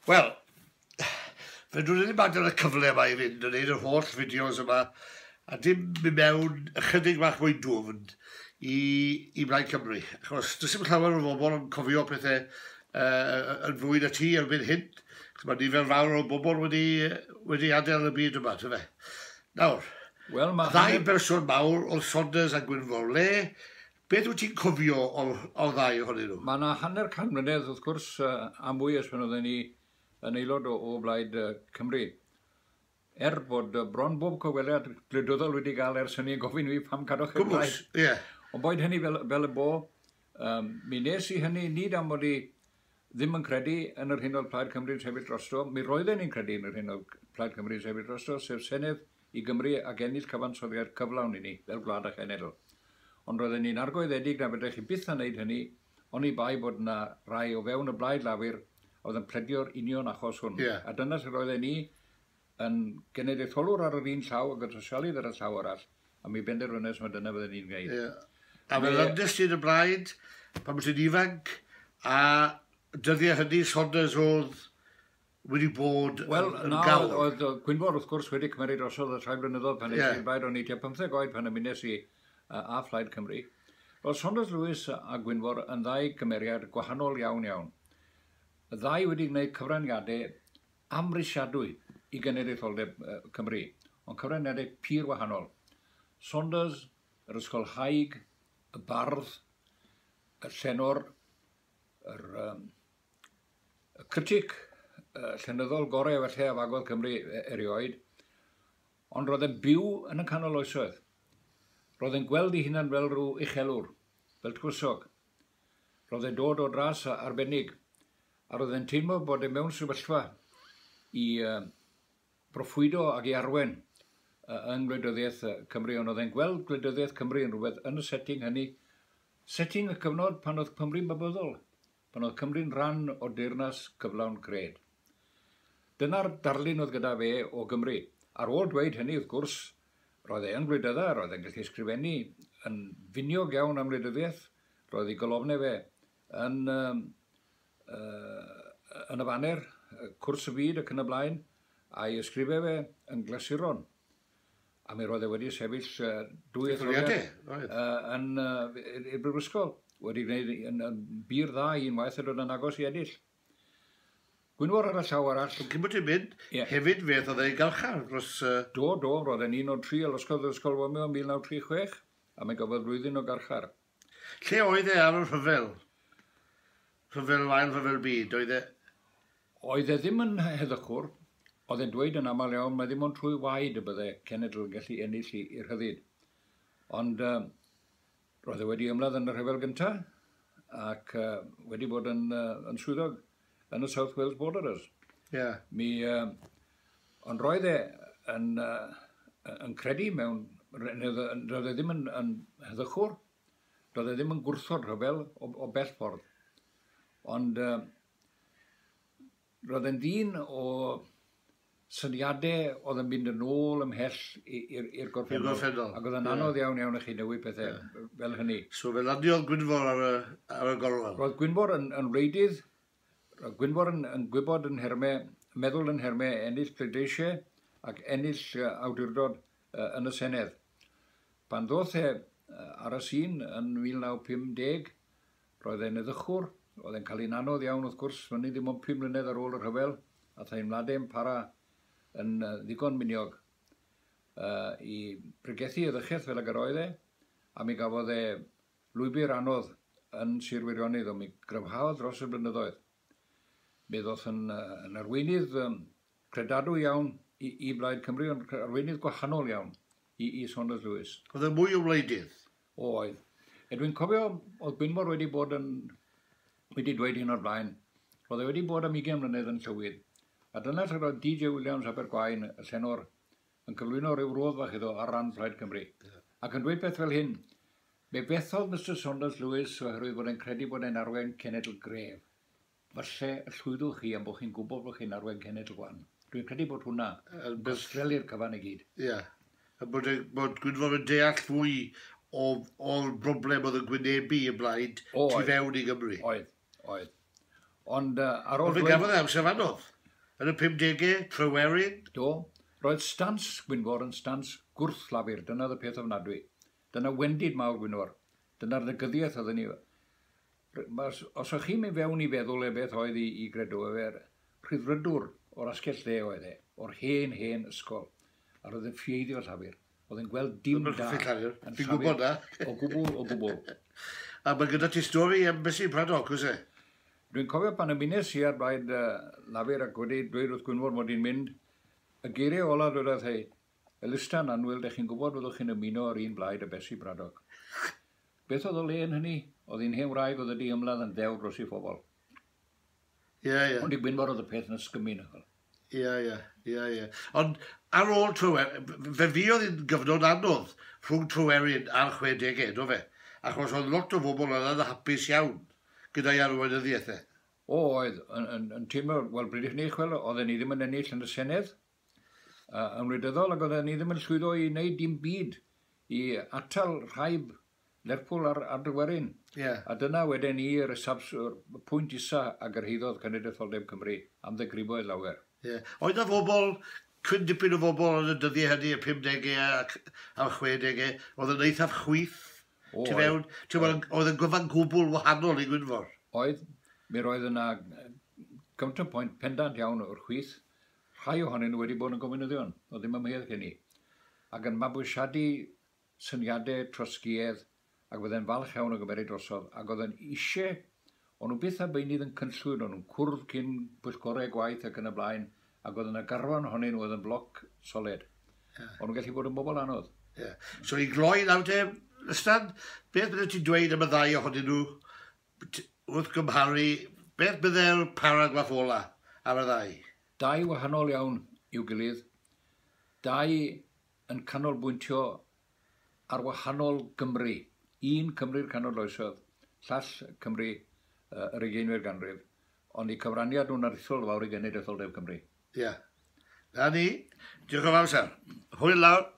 Wel, fedrwn ni ddim adael y cyfle yma i fynd yn neud yr holl fideos yma a dim mynd mewn ychydig bach mwy dwfn i, i Blaid Cymru. Achos does dim llawer o bobl yn cofio pethau yn fwy na ti erbyn hyn. Chos mae nifer fawr o bobl wedi, wedi adael y byd yma, ty fe. Nawr, Wel, mae ddau berson mawr oedd Saunders a Gwynfor. Le, beth wyt ti'n cofio o'r, o'r ddau ohonyn nhw? Mae yna hanner can mlynedd, wrth gwrs, a mwy ers pan oedden ni yn aelod o, o Blaid Cymru. Er bod bron bob cyfweliad gwleidyddol wedi gael ers hynny yn gofyn i fi pam cadwch chi'r Gwmws, blaid. ie. Ond boed hynny fel, fel y bo, um, mi nes i hynny nid am fod i ddim yn credu yn yr hyn oedd Plaid Cymru'n sefyll drosto, mi roedden ni'n credu yn yr hyn oedd Plaid Cymru'n sefyll drosto, sef Senedd i Gymru ac ennill cyfansoddiad cyflawn i ni, fel gwlad a chenedl. Ond roedden ni'n argoeddedig na fedrech chi byth a wneud hynny, oni bai bod yna rai o fewn y Blaid Lafur a oedd yn pledio'r union achos hwn. Ie. A dyna lle roedden ni yn genedlaetholwr ar yr un llaw ac yn sosialydd ar y llaw arall, a mi benderfynais mai dyna fydden ni'n gwneud. Ie. A fe lyndes ti yn y blaid pan wyt ti'n ifanc, a dyddiau hynny Saunders oedd wedi bod Wel, yn, yn na, gawr. oedd, oedd Gwynfor wrth gwrs wedi cymryd drosodd y rhai blynyddoedd pan es Ie. i'r blaid, o'n i tua 15 oed pan ymunes i â Phlaid Cymru. Roedd Saunders Lewis a Gwynfor yn ddau gymeriad gwahanol iawn iawn. Y ddau wedi gwneud cyfraniadau amhrisiadwy i genedlaetholdeb Cymru, ond cyfraniadau pur wahanol. Saunders, yr ysgolhaig, y bardd, y llenor, yr, um, y critic llenyddol gorau felly a fagodd Cymru erioed, ond roedd e'n byw yn y canol oesoedd. Roedd e'n gweld ei hunan fel rhyw uchelwr, fel tywysog. Roedd e'n dod o dras arbennig, a roedd e'n teimlo bod e mewn sefyllfa i proffwydo ac i arwen yng ngwleidyddiaeth Cymru, ond oedd e'n gweld gwleidyddiaeth Cymru yn rhywbeth yn y setting hynny, setting y cyfnod pan oedd Cymru'n babyddol, pan oedd Cymru'n rhan o deyrnas cyflawn cred. Dyna'r darlun oedd gyda fe o Gymru. Ar ôl dweud hynny, wrth gwrs, roedd e yn gwleidydda, roedd e'n gallu ysgrifennu yn finiog iawn am wleidyddiaeth, roedd ei golofnau fe yn, um, yn y faner, Cwrs y Byd ac yn y blaen, a'i ysgrifau fe yn glasuron. A mi roedd e wedi sefyll dwy etholiad yn i'r brifysgol, wedi gwneud yn, yn bur dda unwaith a dod yn agos i ennill. Gwynfor ar y llaw arall. Cyn bod ti'n mynd, Ie. hefyd fe oedd ei garchar dros... Do, do, roedd e'n un o'r tri a losgodd yr ysgol fomio yn 1936, a mi gafodd flwyddyn o garchar. Lle oedd e ar y rhyfel? Rhyfel ail rhyfel byd, oedd e... Oedd e ddim yn heddychwr, oedd e'n dweud yn aml iawn, mae ddim ond trwy waed y bydde cenedl yn gallu ennill i rhyddid. Ond roedd e wedi ymladd yn y rhyfel gyntaf ac wedi bod yn, yn swyddog yn y South Wales Borderers. Ie. Mi, ond roedd e yn, yn credu mewn... Roedd e ddim yn, yn heddychwr, roedd e ddim yn gwrthod rhyfel o, o bell ffordd. Ond roedd e'n ddyn o syniadau oedd yn mynd yn ôl ymhell i'r i'r gorffennol. gorffennol, Ac oedd yn anodd iawn iawn i chi newid pethau fel hynny. So fe landiodd Gwynfor ar y, ar y gorwel. Roedd Gwynfor yn, yn wleidydd, roedd Gwynfor yn, yn gwybod yn nhermau, meddwl yn nhermau ennill pleidleisiau ac ennill awdurdod yn y Senedd. Pan ddoth e ar y sîn yn 1950, roedd e'n eddychwr, oedd e'n cael ein anodd iawn wrth gwrs, fyny ddim ond 5 mlynedd ar ôl y rhyfel, a theimladau'n para yn ddigon miniog i pregethu eddychaeth fel ag yr oedd e, a mi gafodd e lwybr anodd yn Sir Feirionnydd, ond mi gryfhaodd dros y blynyddoedd. Mi ddoth yn, yn arweinydd credadwy iawn i, i Blaid Cymru, ond arweinydd gwahanol iawn i, i Saunders Lewis. Oedd e mwy o wleidydd. Oedd. E dwi'n cofio, oedd Gwynfor wedi bod yn, wedi dweud hyn o'r blaen, roedd e wedi bod am 20 mlynedd yn llywydd. A dyna lle roedd DJ Williams Abergwaun, y llenor, yn cyflwyno rhyw rodd fach iddo ar ran Plaid Cymru. Ac yn dweud beth fel hyn, me fethodd Mr Saunders Lewis oherwydd bod e'n credu bod e'n arwain cenedl gref. Falle y llwyddwch chi am bod chi'n gwybod bod chi'n arwain cenedl gwan. Dwi'n credu bod hwnna yn chwistrellu'r cyfan i gyd. Ie. A bod, bod Gwynfor yn deall fwy o'r broblem oedd yn gwynebu y blaid O, tu oedd. fewn i Gymru. Oedd, oedd. Ond ar ôl Ond fe gafodd e amser anodd. yn y 50au, Tryweryn. Do, roedd stans Gwynfor yn stans gwrth-Lafur, dyna oedd y peth ofnadwy. Dyna wendid mawr Gwynfor. Dyna'r negyddiaeth oedden ni. Os o'ch chi'n mynd fewn i feddwl e beth oedd i gredu, efe rhyddfrydwr o'r asgell dde oedd e, o'r hen, hen ysgol. A roedd yn ffieiddio Llafur. Oedd yn gweld dim da. Fi'n gwybod na. O gwbl, o gwbl. A mae gyda ti stori am Bessie Braddock, oes e? Dwi'n cofio pan ymunes i ar blaid Lafur ac wedi dweud wrth Gwynfor mod i'n mynd, y geiriau ola dwedodd hei, Elystan annwyl, dech chi'n gwybod fyddwch chi'n ymuno ar un blaid a Bessie Braddock. Beth oedd o le yn hynny? Oedd hi'n hen wraig oedd wedi ymladd yn ddewr dros ei phobl. Ie, ie. Ond i Gwynfor oedd y peth yn ysgymu. Ie, ie, ie, ie. Ond ar ôl Tryweryn, fe fuodd hi'n gyfnod anodd rhwng Tryweryn a'r 60au, do fe? Achos oedd lot o bobl oedd yn hapus iawn gyda'i arweinyddiaeth e. O, oedd, yn teimlo, wel, bryd i ni, chwel, oedden ni ddim yn ennill yn y Senedd, yn wleidyddol, ac oedden ni ddim yn llwyddo i wneud dim byd i atal rhaib Lerpwl ar Dryweryn. Yeah. A dyna wedyn i'r pwynt isa a gyrhaeddodd Cenedlaetholdeb Cymru am ddegriboedd lawer. Yeah. Oedd na fobl, cryn dipyn o bobl yn y dyddiau hynny, y 50au a'r 60au, oedd yn eithaf chwith tu fewn. Oedd yn gyfan gwbl wahanol i Gwynfor. Oedd, mi roedd yna counterpoint pendant iawn o'r chwith. Rhai ohonyn nhw wedi bod yn gomunyddion, oedd ddim ymheuaeth gen i. Ac yn mabwysiadu syniadau trosgiedd, ac fydde'n falch iawn o gymeryd drosodd, ac oedd yn eisiau, o'n nhw byth a beunydd yn cynllwyn, o'n nhw'n cwrdd cyn pwyllgorau gwaith ac yn y blaen, ac oedd yna garfan ohonyn nhw oedd yn bloc soled. Yeah. O'n nhw'n gallu bod yn bobl anodd. Yeah. So i gloi nawr te, Lystan, beth bydde ti'n dweud am y ddau ohonyn nhw wrth gymharu, beth bydde'r paragraff ola ar y ddau? Dau wahanol iawn i'w gilydd. Dau yn canolbwyntio ar wahanol Gymru. Un Cymru'r canol oesoedd, llall Cymru yr 20fed ganrif, ond eu cyfraniad nhw'n aruthrol fawr i Genedlaetholdeb Cymru. Ie. Yeah. Na ni. Diolch yn fawr, sir. Hwyl lawr.